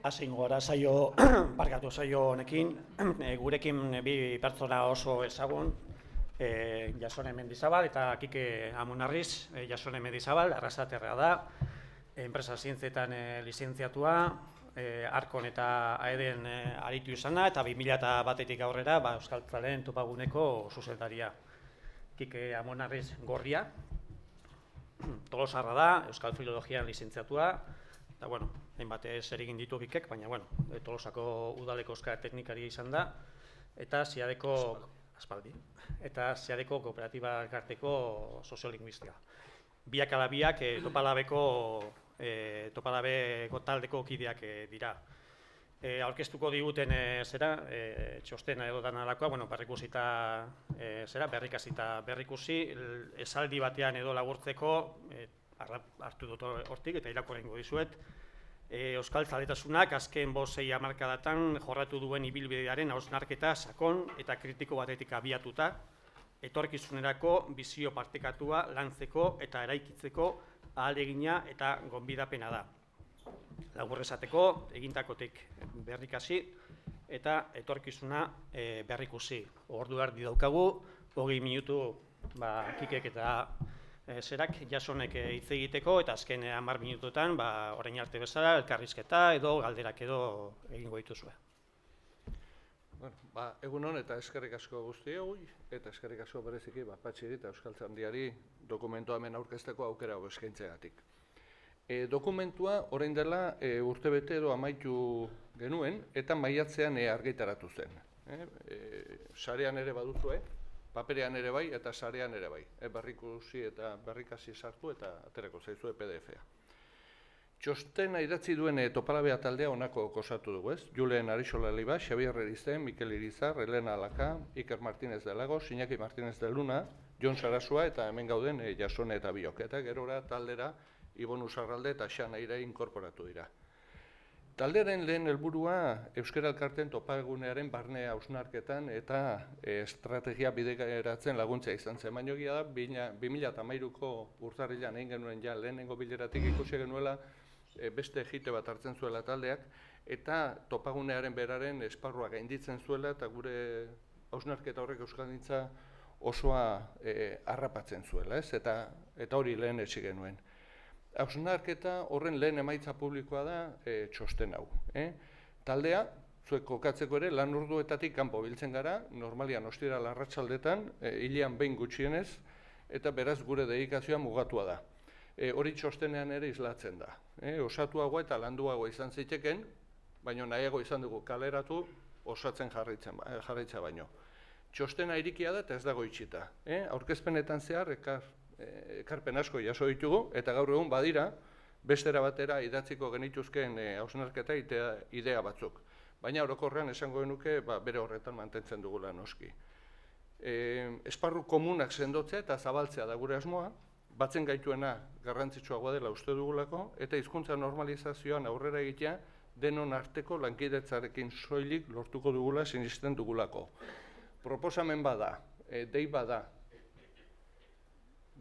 Hasin gora saio, barkatu saio honekin, gurekin bi pertsona oso ezagun, Jasone Mendizabal eta Kike Amunarriz. Jasone Mendizabal, arrasaterra da, enpresa zientzietan lizentziatua, Arkon eta Aeden aritu izana, eta 2001-etik aurrera Euskaltzaleen topaguneko zuzendaria. Kike Amunarriz Gorria, Tolosarra da, Euskal Filologian lizentziatua, eta, hainbat zer egin ditu Kikek, baina, Tolosako udaleko euskara teknikaria izan da, eta Ziadeko kooperatiba elkarteko soziolinguistika. Biak ala biak topalabeko taldeko kideak dira. Aurkeztuko diguten txostena edo danalakoa, berrikasita berrikusi, esaldi batean edo laburtzeko, hartu dut hortik eta irakurrengo dizuet, Euskaltzaletasunak azken 5-6 hamarkadatan jorratu duen ibilbidearen hausnarketa sakon eta kritiko batetik abiatuta, etorkizunerako bizio partekatua lantzeko eta eraikitzeko ahalegina eta gonbidapena da. Labur esateko, egintakotik berrikasi eta etorkizuna berrikusi. Ordu erdi daukagu, 20 minutu Kikek eta zerak Jasonek hitz egiteko, eta azken 10 minututan, orain arte bezala, elkarrizketa edo galderak edo egingo dituzue. Egun hon eta eskerrik asko guztioi, eta eskerrik asko bereziki Patxiri eta Euskaltzaindiari dokumentua hemen aurkezteko aukera hau eskaintzeagatik. Dokumentua orain dela urtebete edo amaitu genuen, eta maiatzean argitaratu zen. Sarean ere baduzue, paperean ere bai eta sarean ere bai. Berrikusi eta berrikasi sartu eta aterako zaizue PDF-a. Txostena idatzi duen Topalabea taldea honako osatu dugu, ez? Julen Arixola Liba, Xabier Erizen, Mikel Irizar, Elena Alaka, Iker Martínez de Lagos, Iñaki Martínez de Luna, Jon Sarasua eta hemen gauden Jasone eta biok. Eta gerora taldera Ibon Usarralde eta Xanaira inkorporatu dira. Taldearen lehen helburua Euskara Elkarteen topagunearen barne hausnarketan eta estrategia bideratzen laguntza izan zen. Baina egia da, 2013ko urtarrilean egin genuen lehenengo bileratik ikusi genuela beste egite bat hartzen zuela taldeak, eta topagunearen beraren esparrua gainditzen zuela eta gure hausnarketa horrek euskaldintza osoa harrapatzen zuela, eta hori lehen etsi genuen. Hausnarketa horren lehen emaitza publikoa da txosten hau. Taldea, zuek kokatzeko ere, lan orduetatik kanpo biltzen gara, normalian ostiral arratsaldetan, hilean behin gutxienez, eta beraz gure dedikazioa mugatua da. Hori txostenean ere islatzen da. Osatuagoa eta landuagoa izan ziteken, baina nahiago izan dugu kaleratu osatzen jarraitza baino. Txostena irikia da eta ez dago itxita. Aurkezpenetan zehar, ekarpen asko jaso ditugu, eta gaur egun badira, bestera batera idatziko genituzkeen hausnarketa idea batzuk. Baina orokorrean esango genuke bere horretan mantentzen dugula noski. Esparru komunak sendotzea eta zabaltzea da gure asmoa, batzen gaituena garrantzitsuagoa dela uste dugulako, eta hizkuntza normalizazioan aurrera egitea denon arteko lankidetzarekin soilik lortuko dugula sinisten dugulako. Proposamen bada, dei bada,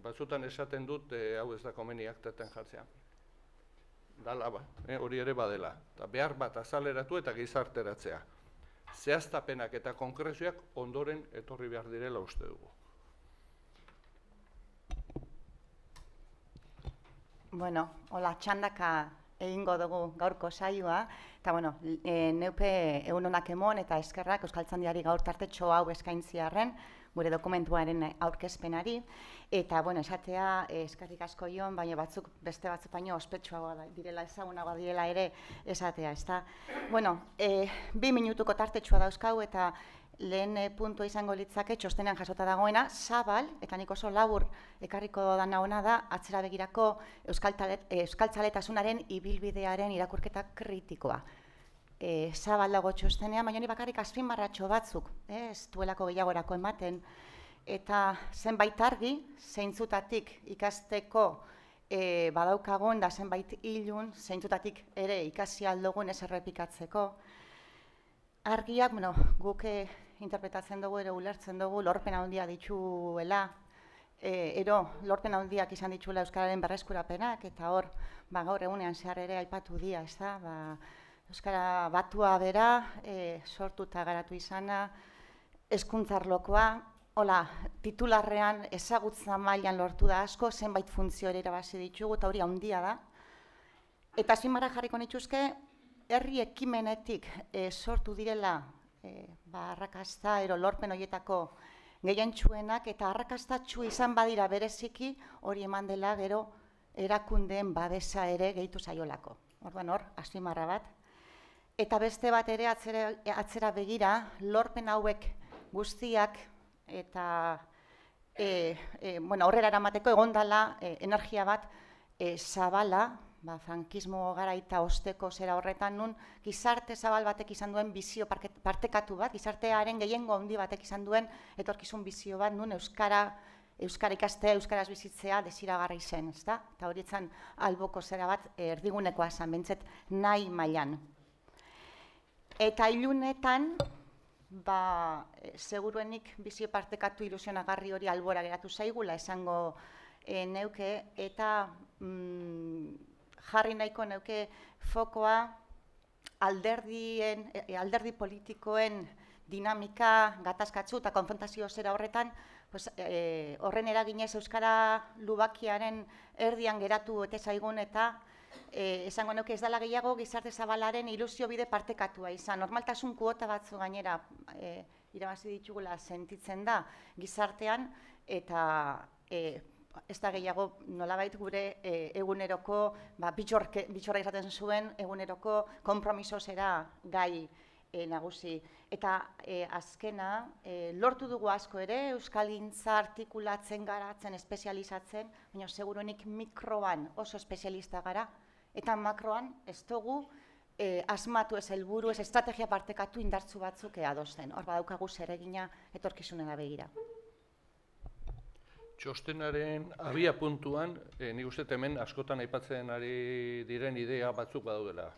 batzutan esaten dut, hau ez da komeni aktaten jartzea. Dala hori ere badela. Behar bat azaleratu eta gizarteratzea. Zehaztapenak eta konkrezioak ondoren etorri behar direla uste dugu. Hola, txandaka egingo dugu gaurko saioa, eta neupe egun honak emon eta eskerrak Euskaltzaindiari gaur tartetxo hau eskaintziarren, gure dokumentuaren aurkezpenari, eta esatea eskerrik asko Jon, baina beste batzuk baino ospetsuagoa direla, ezagunagoa direla ere esatea, ezta? 2 minutuko tartetxoa dauzkau eta lehen puntua izango litzake txostenean jasota dagoena, zabal, eta nik oso labur ekarriko dana ona da, atzera begirako euskaltzaletasunaren ibilbidearen irakurketa kritikoa. Zabal dago txostenean, baina bakarrik azpimarratxo batzuk, ez duelako gehiagorako ematen, eta zenbait argi, zeintzutatik ikasteko badaukagun, da zenbait ilun, zeintzutatik ere ikasi aldogun ez errepikatzeko. Argiak, guk interpretatzen dugu, ere ulertzen dugu, lorpen handia dituela, lorpen handiak izan dituela Euskararen berreskurapenak, eta hor, gaur egunean zehar ere aipatu dira, ez da, Euskara batua bera, sortu eta garatu izana, hezkuntza arlokoa, hola, titularrean ezagutza mailan lortu da asko, zenbait funtzio ere irabazi ditugu, eta hori handia da. Eta azpimarra jarriko nituzke, herri ekimenetik sortu direla arrakasta lorpen horietako gehientsuenak, eta arrakastatsu izan badira bereziki, hori eman dela gero erakundeen babesa ere gehitu zaiolako. Orduan hor, azpimarra bat. Eta beste bat ere atzera begira, lorpen hauek guztiak eta aurrera eramateko egondala energia bat zabala, frankismo garaita osteko zera horretan nun, gizarte zabal batek izan duen bizio partekatu bat, gizartearen gehiengo handi batek izan duen etorkizun bizio bat nun euskara ikastea, euskaraz bizitzea desiragarri zen, ezta? Eta hori etzan alboko zera bat erdigunekoa zen, bentzet nahi mailan. Eta ilunetan, seguruenik bizio partekatu ilusionagarri hori albora geratu zaigula esango neuke, eta jarri nahiko neuke fokoa alderdi politikoen dinamika gatazkatzu eta konfrontazio zera horretan, horren eraginez euskara lubakiaren erdian geratu eta zaigun eta esango neuke ez dela gehiago gizarte zabalaren ilusio bide partekatua izan. Normaltasun kuota batzu gainera irabazi ditugula sentitzen da gizartean eta ez da gehiago nolabait gure eguneroko, bitxorra izaten zuen eguneroko konpromiso zera gai nagusi. Eta azkena, lortu dugu asko ere, euskalgintza artikulatzen, garatzen, espezializatzen, baina seguruenik mikroan oso espezialista gara, eta makroan ez dugu asmatu ez helburu, ez estrategia partekatu indartzu batzuk adosten. Hor badaukagu zeregina etorkizunera begira. Txostenaren abia puntuan, nik uste hemen askotan aipatzen ari diren idea batzuk badaudela.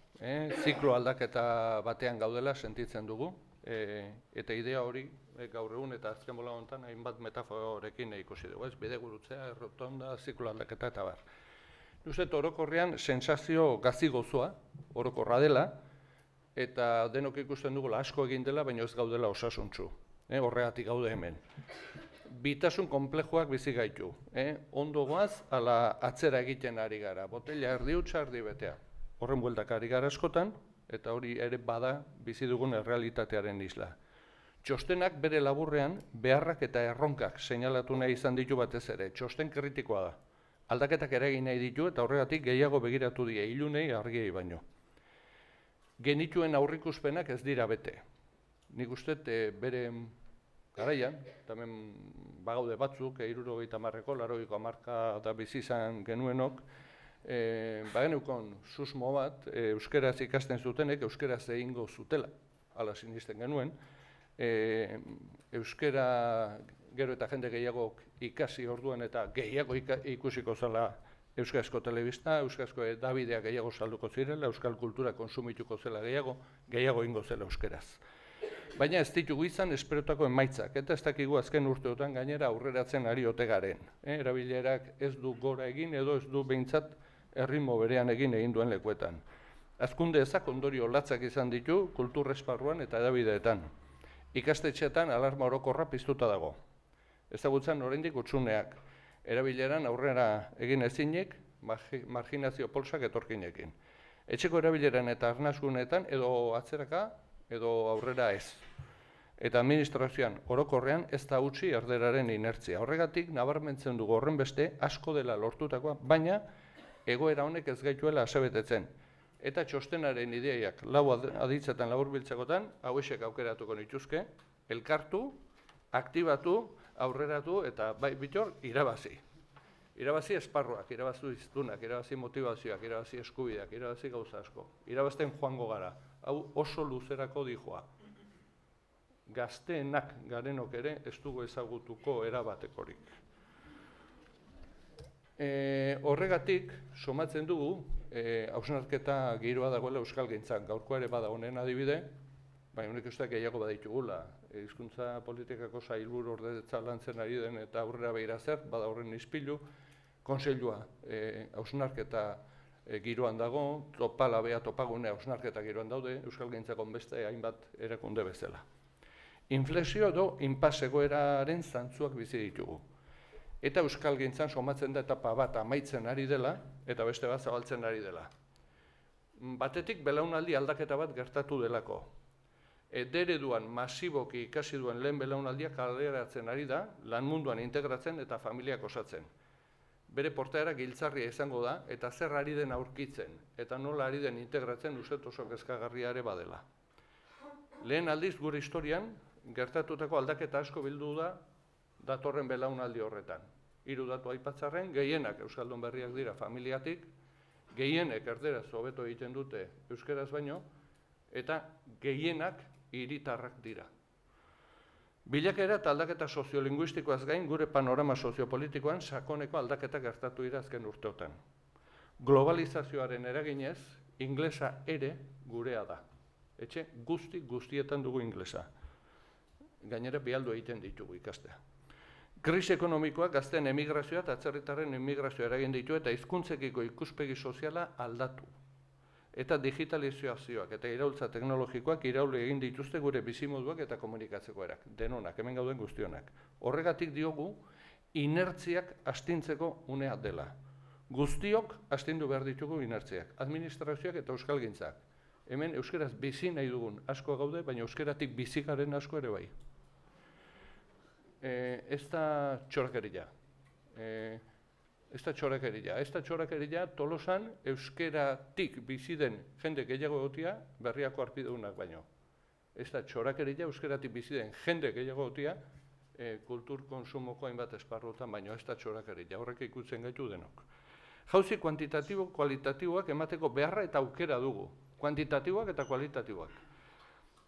Ziklo aldaketa batean gaudela sentitzen dugu, eta idea hori gaur egun eta azken bola honetan hainbat metaforekin ikusi dugu, bidegurutzea, errotonda, ziklo aldaketa eta bar. Nik uste orokorrean sensazio gazi gozoa, orokorra dela, eta denok ikusten dugula asko egin dela, baina ez gaudela osasuntsu, horregatik gaude hemen. Bitasun konplejoak bizi gaitu. Ondo goaz, ala atzera egiten ari gara. Botella erdi hutsa, erdi betea. Horren bueltak ari gara askotan, eta hori ere bada bizi dugun errealitatearen isla. Txostenak bere laburrean beharrak eta erronkak seinalatu nahi izan ditu batez ere. Txosten kritikoa da. Aldaketak eragin nahi ditu eta horregatik gehiago begiratu die ilunei argiei baino. Genituen aurrikuspenak ez dira bete. Nik uste bere garaian, hemen bagaude batzuk, 70ko, 80ko hamarka da bizi izan genuenok, bageneukon susmo bat, euskeraz ikasten zutenek, euskeraz egingo zutela, hala sinisten genuen. Euskera gero eta jende gehiago ikasi orduan eta gehiago ikusiko zela euskarazko telebista, euskarazko edabideak gehiago salduko zirela, euskal kultura konsumituko zela gehiago ingo zela euskeraz. Baina ez ditugu izan esperotako emaitzak, eta ez dakigu azken urteotan gainera aurreratzen ari ote garen. Erabilerak ez du gora egin edo ez du behintzat erritmo berean egin duen lekuetan. Hazkunde ezak ondorio latzak izan ditu kultur esparruan eta edabideetan. Ikastetxeetan alarma orokorra piztuta dago. Ezagutzen oraindik hutsuneak. Erabileran aurrera egin ezinik, marginazio polsak etorkinekin. Etxeko erabileran eta arnasguneetan edo atzeraka edo aurrera ez. Eta administrazioan orokorrean ez da utzi erderaren inertzia. Horregatik nabarmentzen dugu horren beste asko dela lortutakoa, baina egoera honek ez gaituela asebetetzen. Eta txostenaren ideiak lau aditzetan laburbiltzekotan, hauexek aukeratuko nituzke, elkartu, aktibatu, aurreratu eta bai bitor irabazi. Irabazi esparruak, irabazi iztunak, irabazi motivazioak, irabazi eskubideak, irabazi gauza asko. Irabazten joango gara. Hau oso luzerako dijoa. Gazteenak garenok ere ez dugu ezagutuko erabatekorik. Horregatik, somatzen dugu, hausnarketa giroa dagoela euskalgintzan. Gaurkoa ere bada honen adibide, baina honek usteak gehiago baditugula. Hizkuntza politikako sailburu ordetza lantzen ari den eta aurrera behira zer, bada horren ispilu, kontseilua hausnarketa giroan dago, topalabea, topagunea, osnarketa giroan daude, euskalgintzako beste hainbat erakunde bezala. Inflexio edo inpas egoeraren zantzuak bizi ditugu. Eta euskalgintzan somatzen da etapa bat amaitzen ari dela, eta beste bat zabaltzen ari dela. Batetik belaunaldi aldaketa bat gertatu delako. Ereduan masiboki ikasi duen lehen belaunaldia kaleratzen ari da, lan munduan integratzen eta familiak osatzen. Bere portaera giltzarria izango da, eta zer ari den aurkitzen, eta nola ari den integratzen uset oso kezkagarria ere badela. Lehen aldiz gure historian, gertatutako aldaketa asko bildu da datorren belaunaldi horretan. 3 datu aipatzarren, gehienak euskaldun berriak dira familiatik, gehienek erderaz hobeto egiten dute euskeraz baino, eta gehienak hiritarrak dira. Bilakaera eta aldaketa soziolinguistikoaz gain gure panorama soziopolitikoan sakoneko aldaketa gertatu dira azken urteotan. Globalizazioaren eraginez, inglesa ere gurea da. Etxe guztietan dugu inglesa. Gainera bialdu egiten ditugu ikastea. Krisi ekonomikoak gazteen emigrazioa eta atzerritarren emigrazioa eragin ditu eta hizkuntzekiko ikuspegi soziala aldatu. Eta digitalizazioak eta iraultza teknologikoak iraule egin dituzte gure bizimoduak eta komunikatzeko erak. Denonak, hemen gauden guztionak. Horregatik diogu, inertziak astintzeko unea dela. Guztiok astindu behar ditugu inertziak. Administrazioak eta euskalgintzak. Hemen euskeraz bizi nahi dugun asko gaude, baina euskeratik bizikaren asko ere bai. Ez da txorakeria. Ez da txorakeria Tolosan euskeratik bizi den jende gehiago egotia berriako arpideunak baino. Ez da txorakeria euskeratik bizi den jende gehiago egotia kultur konsumoko hainbat esparrutan baino. Ez da txorakeria, horrek ikutzen gaitu denok. Jauzi kuantitatibo, kualitatiboak emateko beharra eta aukera dugu. Kuantitatiboak eta kualitatiboak.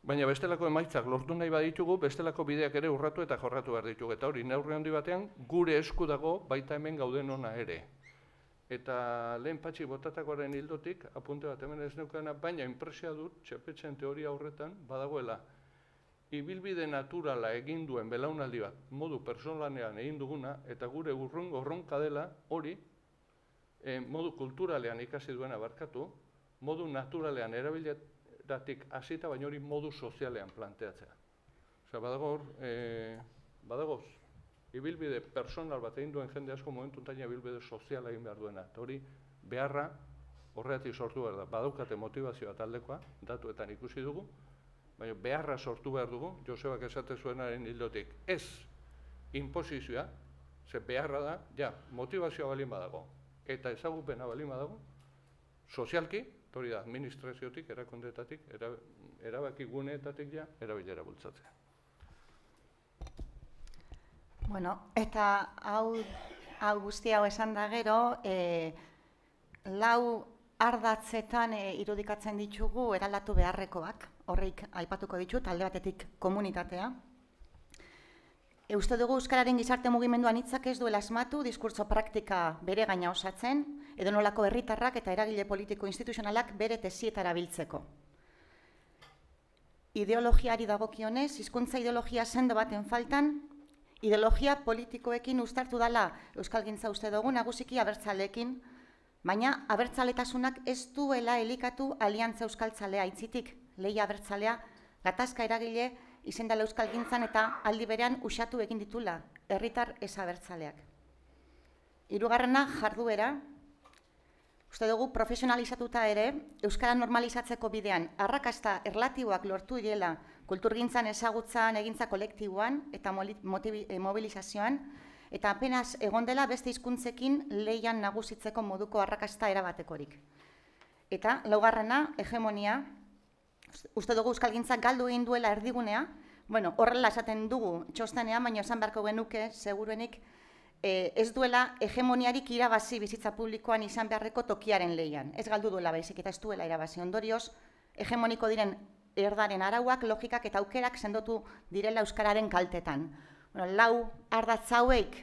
Baina bestelako emaitzak lortu nahi baditugu, bestelako bideak ere urratu eta jorratu behar ditugu. Eta hori, neurri handi batean, gure esku dago baita hemen gauden ona ere. Eta lehen Patxi botatakoaren hildotik, apunte bat hemen ez neukana, baina inpresia dut, txepetzen teoria horretan, badagoela, ibilbide naturala egin duen belaunaldi bat, modu personalanean egin duguna, eta gure urronka dela hori, modu kulturalean ikasi duena barkatu, modu naturalean erabilet, datik hasita baina hori modu sozialean planteatzea. Osea, badagoz, ibilbide personal bat egin duen jende asko momentu taina ibilbide soziala egin behar duena. Eta hori beharra horregatik sortu behar da. Badaukate motivazioa taldekoa, datuetan ikusi dugu, baina beharra sortu behar dugu, Josebak esate zuenaren hildotik. Ez inposizioa, ze beharra da, ja, motivazioa balin badago, eta ezagupena balin badago, sozialki, hori da, administraziotik, erakundetatik, erabaki guneetatik ja, erabilera bultzatzea. Bueno, eta hau guzti hau esan da gero, 4 ardatzetan irudikatzen ditugu eraldatu beharrekoak, horreik aipatuko ditut, alde batetik komunitatea. Uste dugu euskararen gizarte mugimenduan hitzak ez duela asmatu, diskurtso praktika bere gaina osatzen, edo nolako herritarrak eta eragile politiko instituzionalak bere tesietara biltzeko. Ideologiari dagokionez, hizkuntza ideologia sendo baten faltan, ideologia politikoekin uztartu dela euskalgintza uste dugu nagusiki abertzaleekin, baina abertzaletasunak ez duela elikatu aliantza euskaltzalea aitzitik, lehia abertzalea, gatazka eragile izendala euskalgintzan eta aldi berean usatu egin ditula, herritar ez abertzaleak. 3. jarduera, uste dugu profesionalizatuta ere, euskara normalizatzeko bidean arrakasta erlatiboak lortu direla kulturgintzan ezagutzan, egintza kolektiboan eta mobilizazioan, eta apenas egon dela beste hizkuntzekin leian nagusitzeko moduko arrakasta erabatekorik. Eta 4. hegemonia, uste dugu euskalgintzak galdu egin duela erdigunea, bueno, horrela esaten dugu txostenean, baina esan beharko genuke, seguruenik, ez duela hegemoniarik irabazi bizitza publikoan izan beharreko tokiaren leian. Ez galdu duela baizik eta ez duela irabazi ondorioz, hegemoniko diren erdaren arauak, logikak eta aukerak sendotu direla euskararen kaltetan. Bueno, 4 ardatz hauek,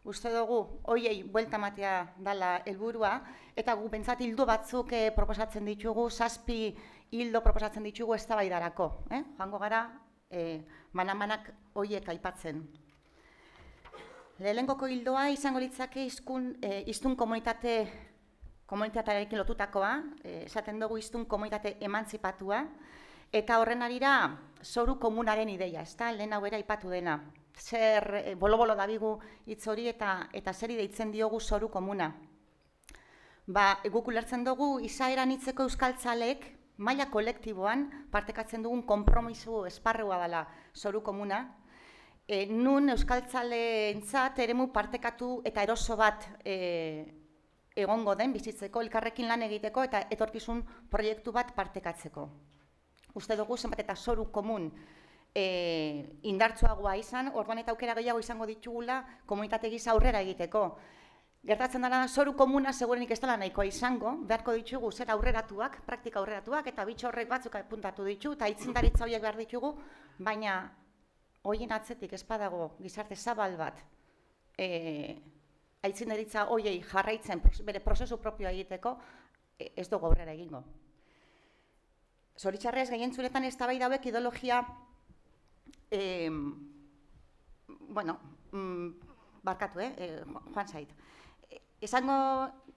uste dugu, hoiei buelta ematea dela helburua, eta gu pentsat hildo batzuk proposatzen ditugu, 7 hildo proposatzen ditugu eztabaidarako. Joango gara, manamanak hoiek aipatzen. Lehenengoko hildoa izango litzake hiztun komunitate komunitatearekin lotutakoa, esaten dugu hiztun komunitate emantzipatua, eta horren arira zoru komunaren ideia, ezta? Lehen hau aipatu dena. Zer bolo-bolo dabigu hitz hori eta zeri deitzen diogu zoru komuna. Guk ulertzen dugu izaera anitzeko euskaltzalek maila kolektiboan partekatzen dugun konpromiso esparrua dela zoru komuna, nun euskaltzaleentzat eremu partekatu eta eroso bat egongo den bizitzeko, elkarrekin lan egiteko eta etorkizun proiektu bat partekatzeko. Uste dugu zenbat eta zoru komun indartsuagoa izan, orduan eta aukera gehiago izango ditugula komunitate gisa aurrera egiteko. Gertatzen dara zoru komuna segurenik ez dela nahikoa izango, beharko ditugu zer aurreratuak, praktika aurreratuak, eta bitxo horrek batzuk apuntatu ditu, eta aitzindaritza horiek behar ditugu, baina horien atzetik ez badago gizarte zabal bat aitzindaritza horiei jarraitzen bere prozesu propioa egiteko, ez dugu aurrera egingo. Zoritxarrez, gehientzuretan eztabaida hauek ideologia barkatu, joan zait. Esango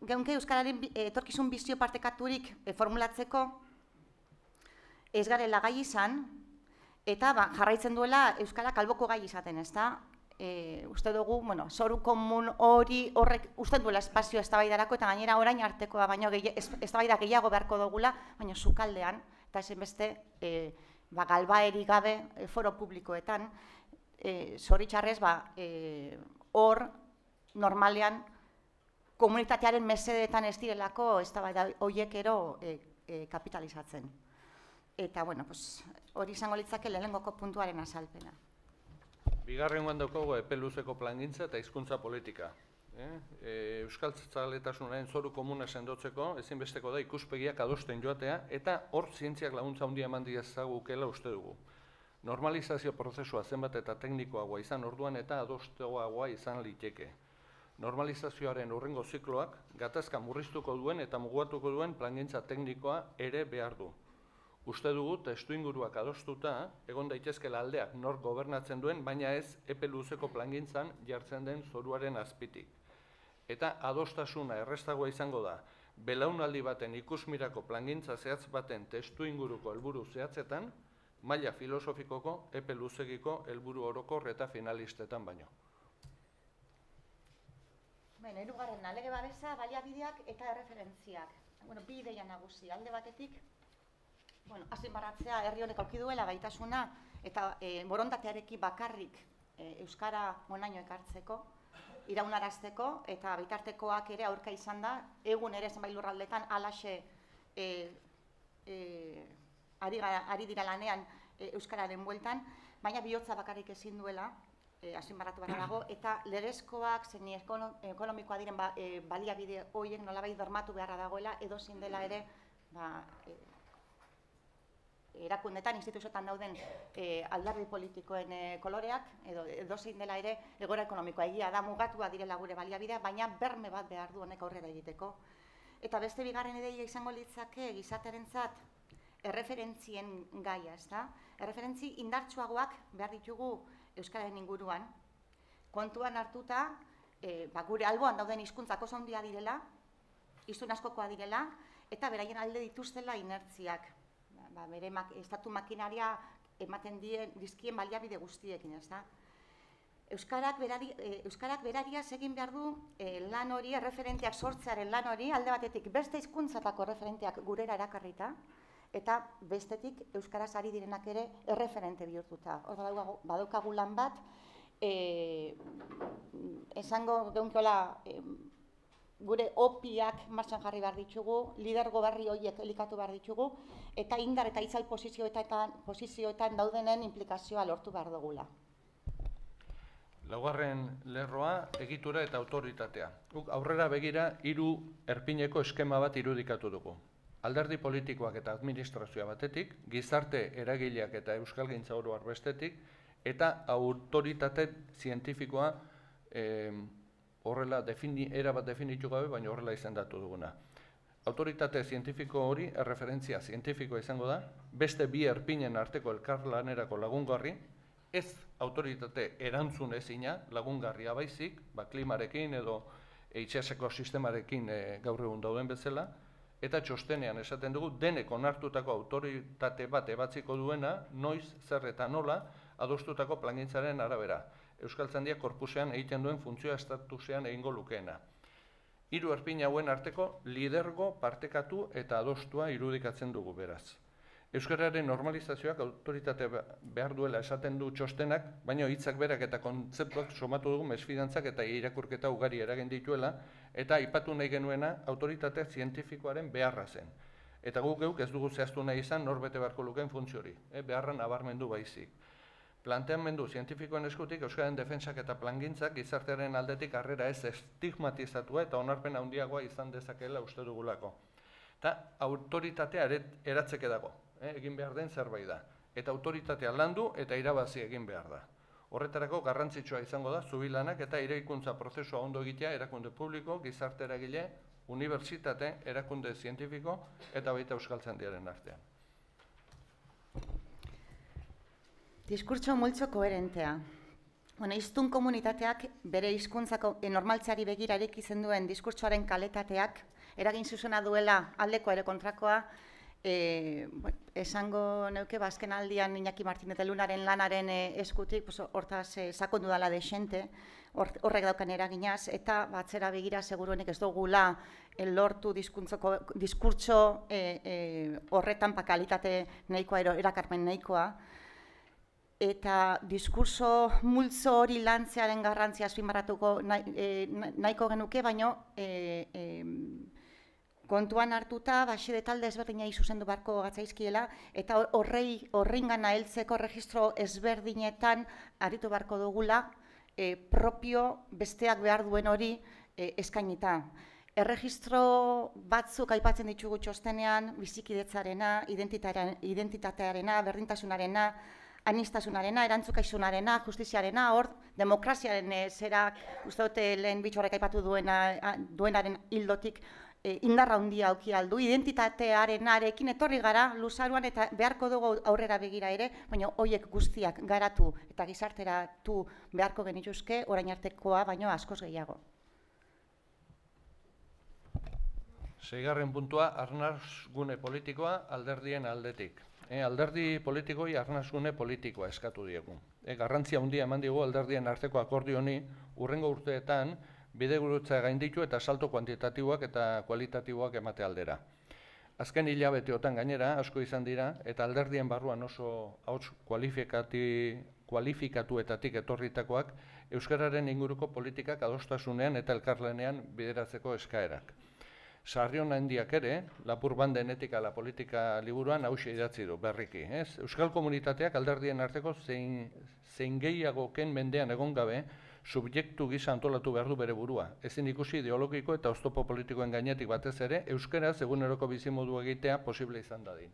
geunke euskararen etorkizun bizio partekaturik formulatzeko ez garela gai izan, eta jarraitzen duela euskarak alboko gai izaten, ez da? Uste dugu, zoru komun horrek usten duela espazio eztabaidarako eta gainera orain artekoa, baina eztabaida gehiago beharko dugula, baina sukaldean, eta ezinbeste galbaerik gabe foro publikoetan, zoritxarrez, hor normalean komunitatearen mesedeetan ez direlako eztabaida horiek ero kapitalizatzen. Eta, hori izango litzake lehenengoko puntuaren azalpena. Bigarrengoan daukagu epe luzeko plangintza eta hizkuntza politika. Euskaltzaletasunaren zoru komuna sendotzeko ezinbesteko da ikuspegiak adosten joatea eta hor zientziak laguntza handia eman diezagukela uste dugu. Normalizazio prozesua zenbat eta teknikoagoa izan orduan eta adostegoagoa izan liteke. Normalizazioaren hurrengo zikloak gatazka murriztuko duen eta mugatuko duen plangintza teknikoa ere behar du. Uste dugu testuinguruak adostuta egon daitezkela aldeak nor gobernatzen duen, baina ez epe luzeko plangintzan jartzen den zoruaren azpitik. Eta adostasuna errestagoa izango da, belaunaldi baten ikusmirako plangintza zehatz baten testuinguruko helburu zehatzetan, maila filosofikoko epe luzegiko helburu orokor eta finalistetan baino. Hirugarrena, lege babesa, baliabideak eta erreferentziak. Bi ideia nagusi, alde batetik, azpimarratzea herri honek aurki duela gaitasuna eta borondatearekin bakarrik euskara honaino ekartzeko, iraunarazteko eta bitartekoak ere aurka izan da, egun ere zenbait lurraldetan halaxe ari dira lanean euskararen bueltan, baina bihotza bakarrik ezin duela, azpimarratu behar dago, eta legezkoak zein ekonomikoa diren baliabide horiek nolabait bermatu beharra dagoela, edozein dela ere erakundetan, instituzioetan dauden alderdi politikoen koloreak, edozein dela ere egoera ekonomikoa egia da mugatua direla gure baliabidea, baina berme bat behar du honek aurrera egiteko. Eta beste bigarren ideia izango litzake gizartearentzat erreferentzien gaia, ezta? Erreferentzi indartsuagoak behar ditugu euskararen inguruan, kontuan hartuta, gure alboan dauden hizkuntzak oso handia direla, hiztun askokoa direla, eta beraien alde dituztela inertziak, bere estatu makinaria ematen dizkien baliabide guztiekin, ez da? Euskarak berariaz egin behar du lan hori, erreferenteak sortzearen lan hori, alde batetik beste hizkuntzatako erreferenteak gurera erakarrita, eta bestetik euskaraz ari direnak ere erreferente bihurtuta. Hor badaukagu lan bat, esango geunkola gure opiak martxan jarri behar ditugu, lidergo berri horiek elikatu behar ditugu, eta indar eta itzal posizioetan daudenen implikazioa lortu behar dugula. Laugarren lerroa, egitura eta autoritatea. Aurrera begira, 3 erpineko eskema bat irudikatu dugu. Alderdi politikoak eta administrazioa batetik, gizarte eragileak eta euskalgintza oro har bestetik, eta autoritate zientifikoa horrela erabat definitu gabe, baina horrela izendatu duguna. Autoritate zientifiko hori, erreferentzia zientifikoa izango da, beste 2 erpinen arteko elkarlanerako lagungarri, ez autoritate erantzun ezina lagungarria baizik, klimarekin edo itsaseko sistemarekin gaur egun dauden bezala, eta txostenean esaten dugu denek onartutako autoritate bat ebatziko duena, noiz, zer eta nola, adostutako plangintzaren arabera. Euskaltzaindia korpusean egiten duen funtzioa estatusean egingo lukeena. Hiru erpin hauen arteko lidergo, partekatu eta adostua irudikatzen dugu beraz. Euskararen normalizazioak autoritate behar duela esaten du txostenak, baina hitzak berak eta kontzeptuak somatu dugu mesfidantzak eta irakurketa ugari eragin dituela, eta aipatu nahi genuena autoritate zientifikoaren beharra zen. Eta guk geuk ez dugu zehaztu nahi izan norbete beharko lukeen funtzio hori, beharra nabarmendu baizik. Planteamendu zientifikoen eskutik euskararen defentsak eta plangintzak gizartearen aldetik harrera ez estigmatizatua eta onarpen handiagoa izan dezakeela uste dugulako. Eta autoritatea eratzeke dago. Egin behar den zerbait da. Eta autoritatea landu eta irabazi egin behar da. Horretarako garrantzitsua izango da zubilanak eta eraikuntza prozesua ondo egitea erakunde publiko, gizarte eragile, unibertsitate, erakunde zientifiko eta baita Euskaltzaindiaren artean. Diskurtso multzo koherentea. Hiztun komunitateak bere hizkuntzako normaltzeari begirarik izen duen diskurtsoaren kalitateak eragin zuzena duela aldeko ere kontrakoa, esango neuke azken aldian Iñaki Martínez de Lunaren lanaren eskutik hortaz sakondu dela desente, horrek daukan eraginaz, eta batzera begira seguruenik ez dugula lortu diskurtso horretan kalitate nahikoa, erakarpen nahikoa, eta diskurso multzo hori lantzearen garrantzia azpimarratuko nahiko genuke, baino kontuan hartuta, baxide talde ezberdinei zuzendu beharko gatzaizkiela, eta horreingana heltzeko registro ezberdinetan aritu beharko dugula, propio besteak behar duen hori eskainita. Erregistro batzuk aipatzen ditugu txostenean, bizikidetzarena, identitatearena, berdintasunarena, anistasunarena, erantzukaizunarena, justiziarena, hor, demokraziaren zerak, uste dute lehen bitxorrek aipatu duenaren hildotik, indarra handia auki aldu, identitatearenarekin etorri gara luzaruan eta beharko dugu aurrera begira ere, baina horiek guztiak garatu eta gizarteratu beharko genituzke, orain artekoa baino askoz gehiago. Seigarren puntua, arnasgune politikoa alderdien aldetik. Alderdi politikoi arnasgune politikoa eskatu diegu. Garrantzia handia eman digu alderdien arteko akordio honi hurrengo urteetan bidegurutza gainditu eta salto kuantitatiboak eta kualitatiboak emate aldera. Azken hilabeteotan gainera asko izan dira eta alderdien barruan oso hauts kualifikatuetatik etorritakoak euskararen inguruko politikak adostasunean eta elkarlanean bideratzeko eskaerak. Sarrion handiak ere, Lapur Banden etika la politika liburuan hauxe idatzi du berriki. Euskal komunitateak alderdien arteko zein gehiagoken mendean egon gabe, subjektu gisa antolatu behar du bere burua. Ezin ikusi ideologiko eta oztopo politikoen gainetik batez ere, euskaraz eguneroko bizimodu egitea posible izan dadin.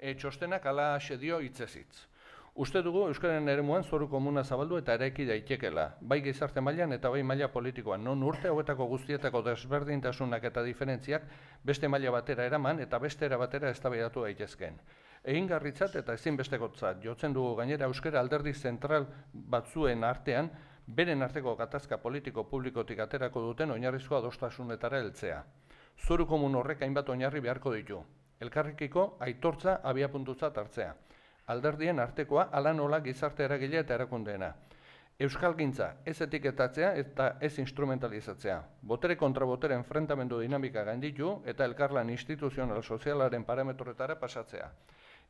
Txostenak hala dio hitzez hitz. Uste dugu euskararen eremuan zoru komuna zabaldu eta eraiki daitekela, bai gizarte mailan eta bai maila politikoan, non urte hauetako guztietako desberdintasunak eta diferentziak beste maila batera eraman eta beste era batera eztabaidatu daitezkeen. Egingarritzat eta ezinbestekotzat jotzen dugu gainera euskara alderdi zentral batzuen artean, beren arteko gatazka politiko publikotik aterako duten oinarrizko adostasunetara heltzea. Zoru komun horrek hainbat oinarri beharko ditu. Elkarrekiko aitortza abiapuntutzat hartzea. Alderdien artekoa hala nola gizarte eragile eta erakundeena. Euskalgintza ez etiketatzea eta ez instrumentalizatzea. Botere kontra botere enfrentamendu dinamika gainditu eta elkarlan instituzional sozialaren parametroetara pasatzea.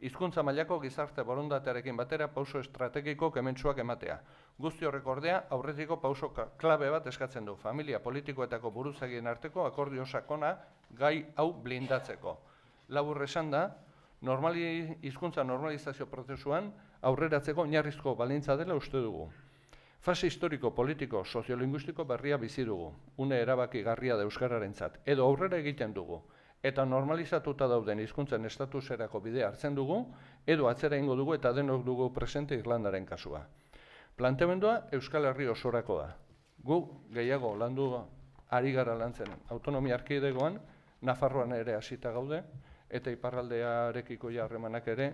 Hizkuntza mailako gizarte borondatearekin batera pauso estrategiko kementsuak ematea. Guzti horrek ordea aurretiko pauso klabe bat eskatzen du. Familia politikoetako buruzagien arteko akordio sakona gai hau blindatzeko. Labur esan da, hizkuntza normalizazio prozesuan aurreratzeko oinarrizko baldintza dela uste dugu. Fase historiko, politiko, soziolinguistiko berria bizi dugu, une erabakigarria da euskararentzat, edo aurrera egiten dugu, eta normalizatuta dauden hizkuntzen estatuserako bidea hartzen dugu, edo atzera ingo dugu eta denok dugu presente Irlandaren kasua. Planteamendua Euskal Herri osorako da. Gu gehiago landu ari gara lantzen autonomia erkidegoan, Nafarroan ere hasita gaude, eta iparraldearekiko harremanak ere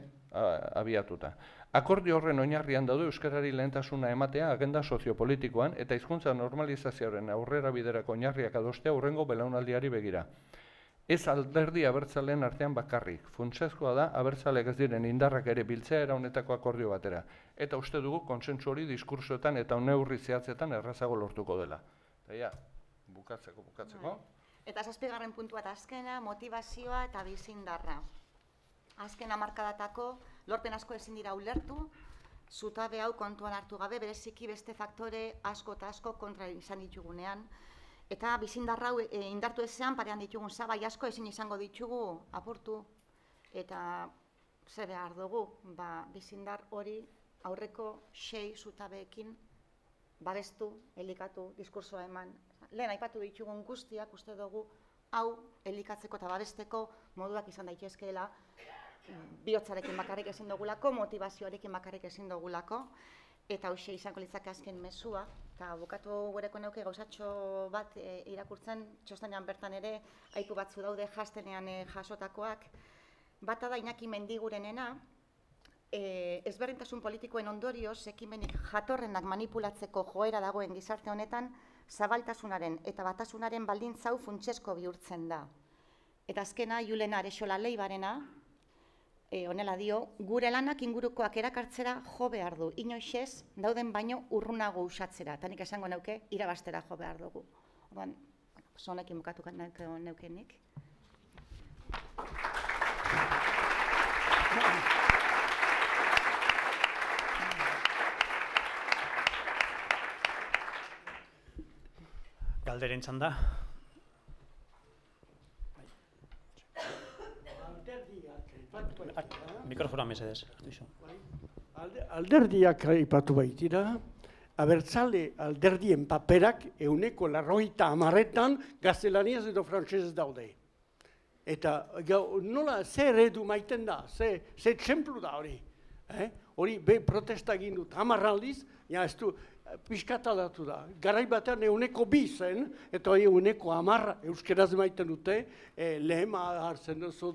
abiatuta. Akordio horren oinarrian daude euskarari lehentasuna ematea agenda soziopolitikoan eta hizkuntza normalizazioaren aurrera biderako oinarriak adostea hurrengo belaunaldiari begira. Ez alderdi abertzaleen artean bakarrik, funtsezkoa da abertzaleak ez diren indarrak ere biltzea era honetako akordio batera. Eta uste dugu kontsentsu hori diskursoetan eta neurri zehatzetan errazago lortuko dela. Eta ja, bukatzeko. Eta 7. puntua eta azkena, motivazioa eta bizindarra. Azken hamarkadatako lorpen asko ezin dira ulertu, zutabe hau kontuan hartu gabe, bereziki beste faktore asko eta asko kontra izan ditugunean. Eta bizindarra hau indartu ezean parean ditugun zabai asko ezin izango ditugu apurtu. Eta zer behar dugu, bizindar hori aurreko 6 zutabeekin babestu, elikatu, diskursoa eman. Lehen aipatu ditugun guztiak uste dugu hau elikatzeko eta babesteko moduak izan daitezkeela bihotzarekin bakarrik ezin dugulako, motivazioarekin bakarrik ezin dugulako, eta hoxe izango litzake azken mezua. Eta bukatu gureko neuke gauzatxo bat irakurtzen, txostanean bertan ere aipu batzu daude jastenean jasotakoak. Bata da Iñaki Mendigurenena, ezberdintasun politikoen ondorioz ekimenik jatorrenak manipulatzeko joera dagoen gizarte honetan, zabaltasunaren eta batasunaren baldintza hau funtsezko bihurtzen da. Eta azkena Julen Arexola Leibarena, honela dio, gure lanak ingurukoak erakartzera jo behar du, inoixez dauden baino urrunago usatzera, eta nik esango neuke irabastera jo behar dugu. Orduan, honekin bukatuko neukenik. Galderen txanda. Mikrofona mesedez. Alderdiak aipatu baitira, abertzale alderdien paperak 90% gaztelaniaz edo frantsesez daude. Eta nola ze eredu maiten da, ze txemplu da hori. Hori protesta egin dut 10 aldiz, ez du pixkat aldatu da. Garai batean 2 zen, eta hori 10 euskeraz maiten dute, lehema hartzen duzu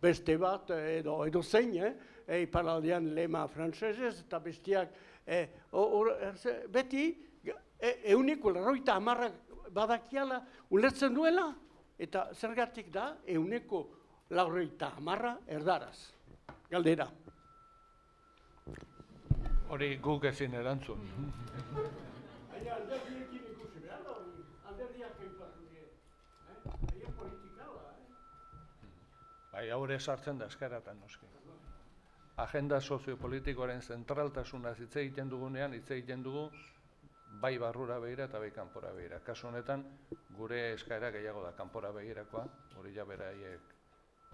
beste bat edo zein, iparaldean lehema frantsesez, eta bestiak beti 90% badakiala ulertzen duela, eta zergatik da 90% erdaraz. Galdera. Hori guk ezin erantzun. Alderdiekin ikusi behar da hori, alderdiak aipatu dira. Haien politikala, Bai, haure sartzen da eskaratan noski. Agenda soziopolitikoaren zentraltasunaz hitz egiten dugunean, hitz egiten dugu bai barrura begira eta bai kanpora begira. Kasu honetan, gure eskaera gehiago da kanpora begirakoa, hori ja beraiek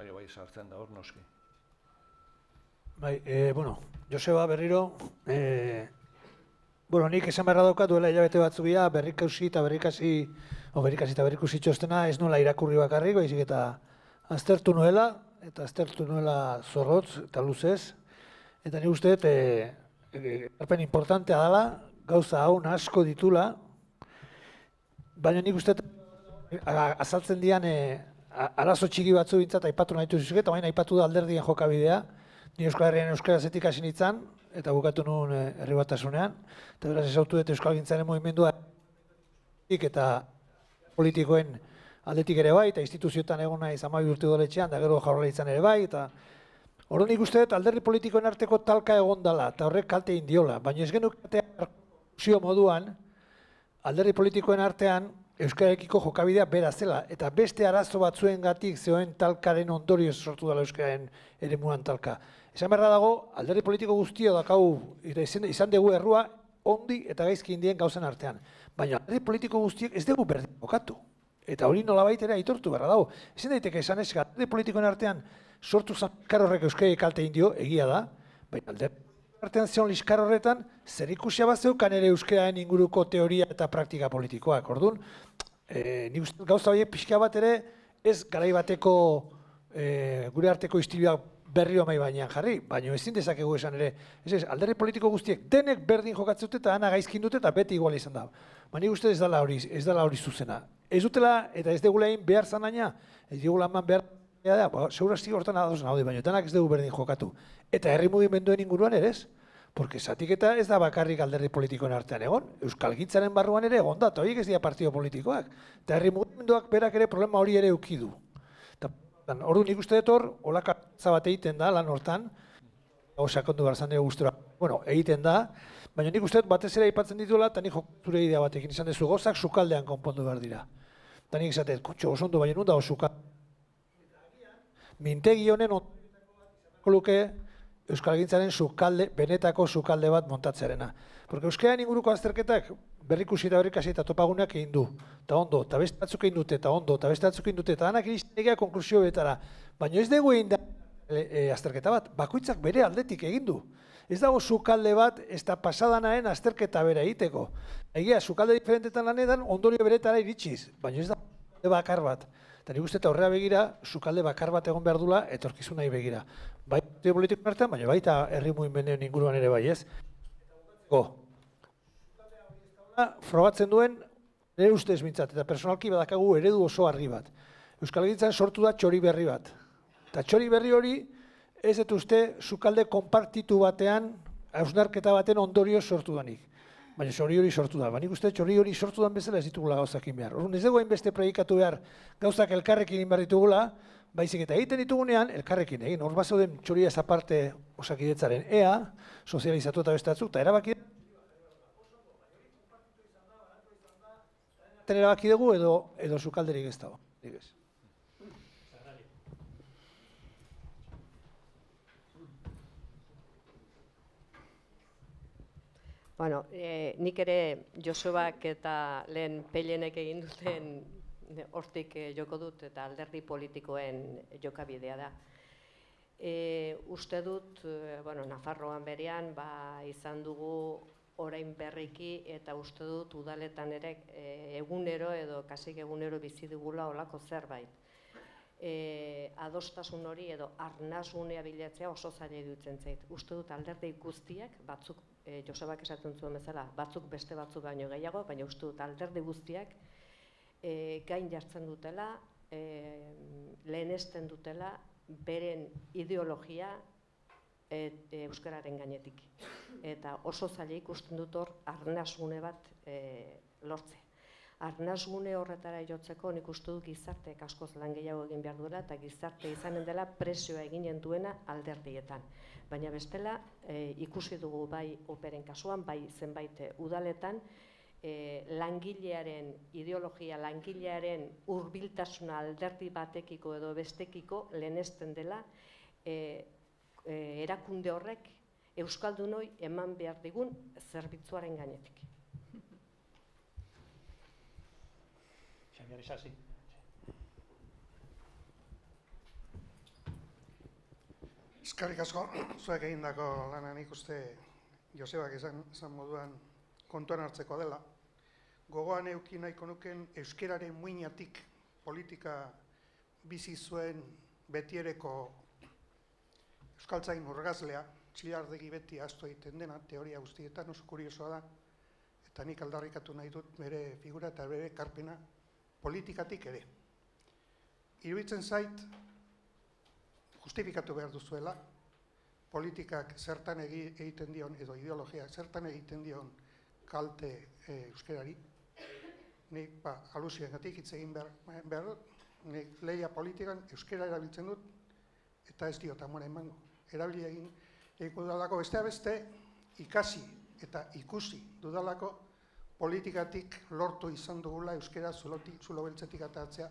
bai sartzen da hor noski. Bai, Joseba berriro, nik esan beharra daukat duela hilabete batzu bila berrikusi eta berrikusi txostena ez nola irakurri bakarrik, baizik eta aztertu nuela zorrotz eta luzez. Eta nik uste, erpen importantea dela, gauza hau asko ditula, baina nik uste azaltzen dian arazo txiki batzu bintzat aipatu nahi duzuzik, eta baina aipatu da alderdien jokabidea. Ni Euskal Herrian euskarazetik hasi nintzen, eta bukatu nuen herri batasunean, eta beraz ezautu dut Euskal Gintzaren movimendua eta politikoen aldetik ere bai, eta instituzioetan egon nahi 12 urte doletxean, da gero Jaurlaritzan ere bai, eta hori nik uste dut alderdi politikoen arteko talka egon dela, eta horrek kalte indiola, baina ez genukatea zio moduan, alderdi politikoen artean Euskararekiko jokabidea bera zela, eta beste arazo batzuengatik zeoen talkaren ondorioz sortu dela Euskararen eremuan talka. Esan beharra dago, alderdi politiko guztio dakau, izan dugu errua, ondi eta gaizki indien gauzen artean. Baina alderdi politiko guztiek ez dugu berdin jokatu. Eta hori nolabait ere aitortu beharra dago. Ezin daiteke esan ez, alderdi politikoen artean sortu zan liskar horrek Euskarari kalte indio, egia da, baina alderdi artean zeon liskar horretan, zer ikusia bat zeukan ere Euskararen inguruko teoria eta praktika politikoak. Orduan, nik uste gauza horiek pixka bat ere, ez garai bateko gure arteko istilioak berriro mai bainean jarri, baina ezin dezakegu esan ere, alderdi politiko guztiek denek berdin jokatzen dute eta ana gaizkin dute eta beti igual izan da. Baina nik uste ez dela hori zuzena. Ez dutela eta ez degula egin behar zanaina, ez dugula eman behar Segurazki hortan ados naude, baina denak ez dugu berdin jokatu. Eta herri mugimenduen inguruan ere ez. Porque zatiketa ez da bakarrik alderdi politikoen artean egon. Euskalgintzaren barruan ere egon da, eta horiek ez dira partio politikoak. Eta herri mugimenduak berak ere problema hori ere eukidu. Orduan nik uste dut hor, olakatza bat egiten da lan hortan, sakondu behar zan gustura, egiten da, baina nik uste dut batez ere aipatzen dituela, eta nik zure idea batekin izan dezu gozak sukaldean konpondu behar dira. Eta nik izatet, kutxo, osondu baina nun dago sukaldean. Mintegi honen ondako luke Euskalgintzaren benetako sukalde bat montatzearena. Porque euskararen inguruko azterketak berrikusi eta berrikasi eta topaguneak egin du. Eta ondo, eta beste batzuk egin dute, eta ondo, eta beste batzuk egin dute, eta danak iristen konklusio betara. Baina ez dugu egin da azterketa bat, bakoitzak bere aldetik egin du. Ez dago sukalde bat, ez da pasadanaen azterketa bere egiteko. Egia, sukalde diferentetan lanetan ondorio beretara iritsiz, baina ez da sukalde bakar bat. Eta nik uste eta horrela begira, sukalde bakar bat egon behar dula, etorkizunai begira. Bai politikoen artean, baina baita herri mugimenduaren inguruan ere bai, ez? Frogatzen duen, nire ustez mintzat, eta personalki badakagu eredu oso argi bat. Euskalgintzan sortu da txori berri bat. Eta txori berri hori, ez dut uste, sukalde konpartitu batean, hausnarketa baten ondorio sortu danik. Baina txori hori sortu da. Baina uste txori hori sortu dan bezala ez ditugula gauzakin behar. Orduan ez dugu hainbeste predikatu behar gauzak elkarrekin egin behar ditugula, baizik eta egiten ditugunean, elkarrekin egin. Hor bazauden txoria ez aparte Osakidetzaren ea, sozializatu eta beste batzuk, eta erabaki dugu edo sukalderik ez dago. Bueno, nik ere Josebak eta lehen Pelenek egin duten hortik joko dut eta alderdi politikoen jokabidea da. Uste dut, Nafarroan berean izan dugu orain berriki eta uste dut udaletan ere egunero edo kasik egunero bizi dugula olako zerbait. Adostasun hori edo arnasunea bilatzea oso zaila iruditzen zait. Uste dut alderdi guztiak, batzuk, Josebak esaten zuen bezala, batzuk beste batzuk baino gehiago, baina uste dut alderdi guztiak gain jartzen dutela, lehenesten dutela, beren ideologia euskararen gainetik. Eta oso zaila ikusten dut hor arnasgune bat lortze. Arnasgune horretara jotzeko nik uste dut gizarteek askoz lan gehiago egin behar duela eta gizarte izanen dela presioa eginen duena alderdietan. Baina bestela ikusi dugu bai operen kasuan, bai zenbait udaletan, langilearen ideologia, langilearen hurbiltasuna alderdi batekiko edo bestekiko lehenesten dela erakunde horrek euskaldunoi eman behar digun zerbitzuaren gainetik. Eskerrik asko, zuek egindako lanan ikuste Josebak esan moduan kontuan hartzeko dela. Gogoan euki nahiko nuken euskeraren muinatik politika bizi zuen betiereko euskaltzain urgazlea, txilardegi beti ahaztu egiten dena, teoria guztietan oso kuriosoa da, eta nik aldarrikatu nahi dut bere figura eta bere ekarpena politikatik ere. Iruditzen zait, justifikatu behar duzuela, politikak zertan egiten dion, edo ideologiak zertan egiten dion kalte euskerari. Nik alusioengatik hitz egin behar dut, nik lehia politikan euskera erabiltzen dut, eta ez diot amore emango. Erabili egin dudalako besteak beste ikasi eta ikusi dudalako politikatik lortu izan dugula euskera zulo beltzetik ateratzea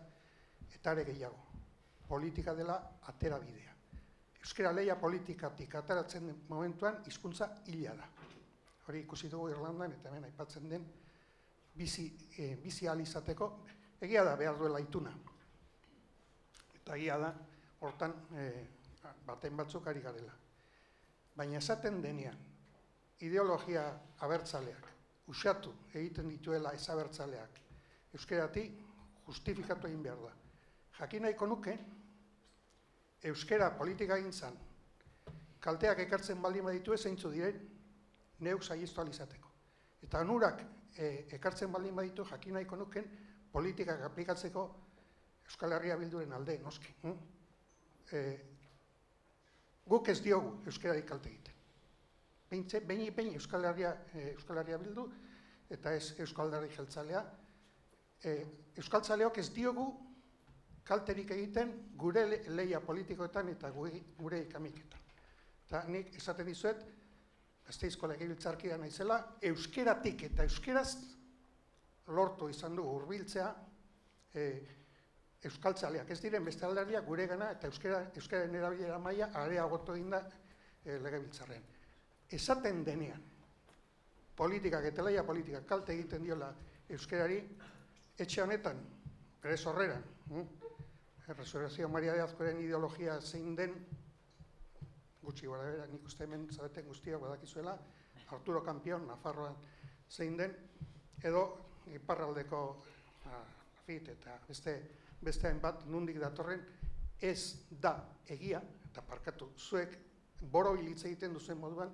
eta are gehiago. Politika dela aterabidea. Euskera lehia politikatik ateratzen den momentuan hizkuntza hila da. Hori ikusi dugu Irlandan eta hemen aipatzen den bizi ahal izateko egia da behar duela ituna. Eta egia da hortan baten batzuk ari garela. Baina esaten denean ideologia abertzaleak usatu egiten dituela ez abertzaleak euskeratik justifikatu egin behar da. Jakin nahiko nuke euskera politika gintzan kalteak ekartzen baldin baditu zeintzu diren neuk saihestu ahal izateko. Eta onurak ekartzen baldin baditu jakin nahiko nuken politikak aplikatzeko Euskal Herria Bilduren alde, noski. guk ez diogu euskarari kalte egiten. Behin Euskal Herria Bildu, eta ez Euskal Alderdi Jeltzalea, euskaltzaleok ez diogu kalterik egiten gure lehia politikoetan eta gure ikamiketan. Eta nik esaten dizuet, Gasteizko legebiltzarkidea naizela, euskeratik eta euskeraz lortu izan du hurbiltzea euskaltzaleak ez diren beste alderdiak guregana eta euskararen erabilera maila areagotu egin da legebiltzarrean. Esaten denean, politikak eta lehia politikak kalte egiten diola euskarari, etxe honetan, bere sorreran, Resurrección Maria de Azkoren ideologia zein den, gutxi gara bera, nik uste hemen zareten guztiak badakizuela, Arturo Campion, Nafarroan zein den, edo iparraldeko FIT eta beste hainbat nundik datorren, ez da egia, eta parkatu, zuek borobil hitz egiten duzuen moduan,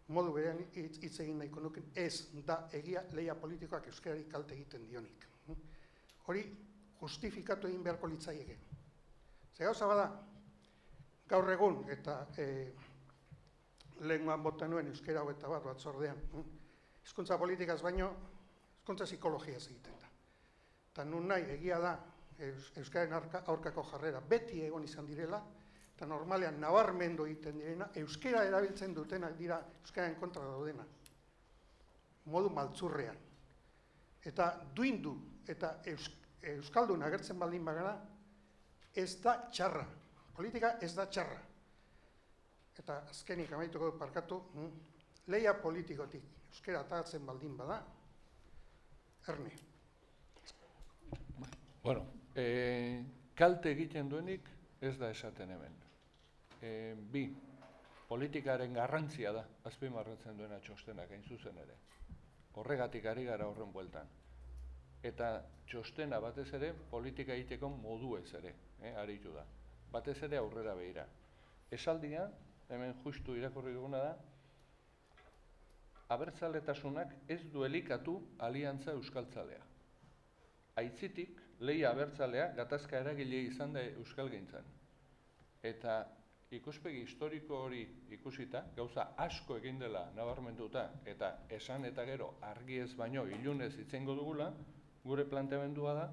modu berean hitz egin nahiko nuken, ez da egia lehia politikoak euskarari kalte egiten dionik. Hori justifikatu egin beharko litzaieke. Ze gauza bada, gaur egun, eta lehengoan bota nuen euskara hau eta bat batzordean, hizkuntza politikaz baino, hizkuntza psikologiaz egiten da. Eta nun nahi egia da euskararen aurkako jarrera beti egon izan direla, eta normalean nabarmendu egiten direna, euskara erabiltzen dutenak dira euskararen kontra daudena. Modu maltzurrean. Eta duindu eta euskaldun agertzen baldin bagara, ez da txarra. Politika ez da txarra. Eta azkenik amaituko parkatu, lehia politikotik euskara atagatzen baldin bada, erne. Bueno, kalte egiten duenik ez da esaten hemen. Bi, politikaren garrantzia da, azpimarratzen duena txostenak, hain zuzen ere. Horregatik ari gara horren bueltan. Eta txostena batez ere, politika egiteko moduez ere, aritu da. Batez ere aurrera behira. Esaldia, hemen justu irakurri duguna da, abertzaletasunak ez du elikatu aliantza euskaltzalea. Aitzitik, lehia abertzalea gatazka eragile izan da euskalgintzan. Eta ikuspegi historiko hori ikusita, gauza asko egin dela nabarmenduta, eta esan eta gero argi ez baino ilunez itzengo dugula, gure planteamendua da,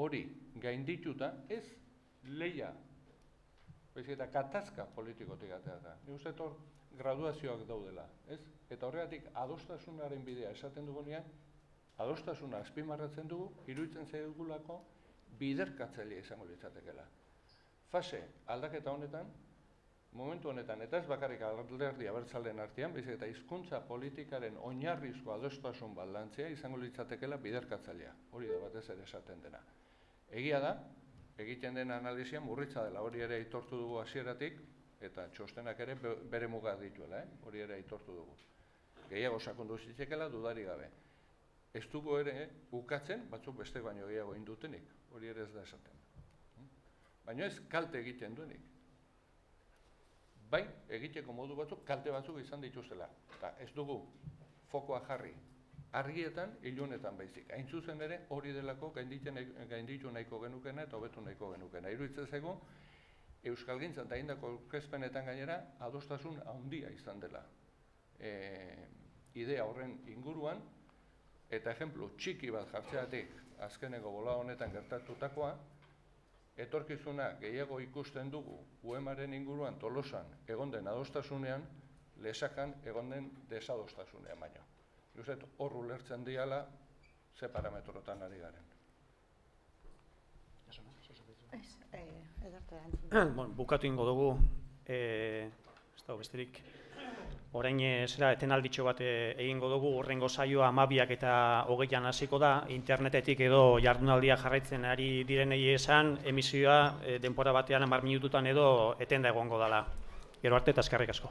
hori gaindituta ez lehia, baizik eta gatazka politikotik atea da. Nik uste hor graduazioak daudela, ez? Eta horregatik adostasunaren bidea esaten dugunean, adostasuna azpimarratzen dugu, iruditzen zaigulako biderkatzailea izango litzatekeela. Fase aldaketa honetan, momentu honetan, eta ez bakarrik alderdi abertzaleen artean, baizik eta hizkuntza politikaren oinarrizko adostasun bat lantzea izango litzatekeela biderkatzailea. Hori da batez ere esaten dena. Egia da, egiten den analizia murritza dela, hori ere aitortu dugu hasieratik, eta txostenak ere bere muga dituela, hori ere aitortu dugu. Gehiago sakondu zitzekeela dudari gabe. Ez dugu ere ukatzen, batzuk beste baino gehiago indutenik, hori ere ez da esaten. Baina ez kalte egiten duenik. Bai, egiteko modu batzuk, kalte batzuk izan dituztela. Eta ez dugu fokoa jarri argietan, ilunetan baizik. Hain zuzen ere, hori delako gainditu nahiko genukena eta hobetu nahiko genukena. Iruditzen zaigu, euskalgintzan eta indako aurkezpenetan gainera, adostasun handia izan dela. Idea horren inguruan, eta ejemplu txiki bat jartzeatik, azkeneko bola honetan gertatutakoa, etorkizuna gehiago ikusten dugu UEMaren inguruan Tolosan egon den adostasunean, Lesakan egon den desadostasunean baino. Juzet, hor ulertzen diala, ze parametrotan ari garen. Bukatu ingo dugu, ez dago besterik, orain etenalditxo bat egingo dugu, horrengo saioa 12 eta 20 hasiko da, internetetik edo jardunaldia jarraitzen ari direnei esan, emisioa denbora batean 10 minututan edo etenda egongo dela. Gero arte eta eskerrik asko.